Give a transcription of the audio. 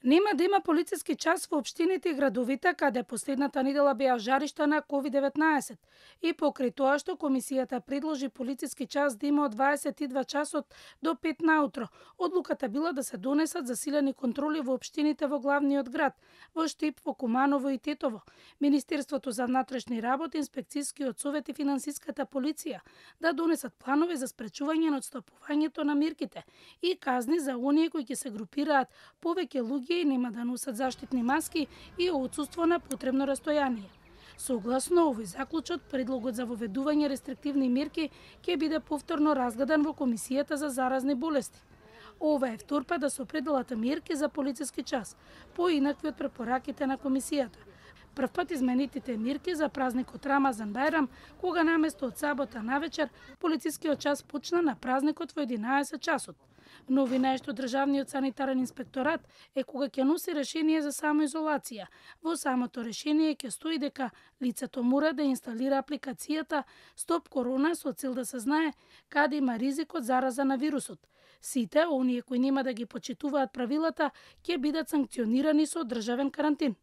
Нема да има полициски час во општините и градовите каде последната недела беа жаришта на COVID-19 и покрај тоа што комисијата предложи полициски час да има од 22 часот до 5 наутро, одлуката била да се донесат засилени контроли во општините во главниот град, во Штип, во Куманово и Тетово, Министерството за внатрешни работи, инспекцијскиот совет и финансиската полиција да донесат планови за спречување на отстапувањето на мерките и казни за оние кои ќе се групираат повеќе луѓе и нема да носат заштитни маски и отсуство на потребно растојание. Согласно овој заклучок, предлогот за воведување рестриктивни мерки ќе биде повторно разгледан во Комисијата за заразни болести. Ова е втор пат да се определат мерки за полициски час, поинакви од препораките на Комисијата. Прв пат изменетите мерки за празникот Рамазан Бајрам, кога наместо од сабота навечер, полицискиот час почна на празникот во 11 часот. Новина е што Државниот санитарен инспекторат е кога ќе носи решение за самоизолација. Во самото решение ќе стои дека лицето мора да инсталира апликацијата Стоп Корона со цел да се знае каде има ризик од зараза на вирусот. Сите оние кои нема да ги почитуваат правилата ќе бидат санкционирани со државен карантин.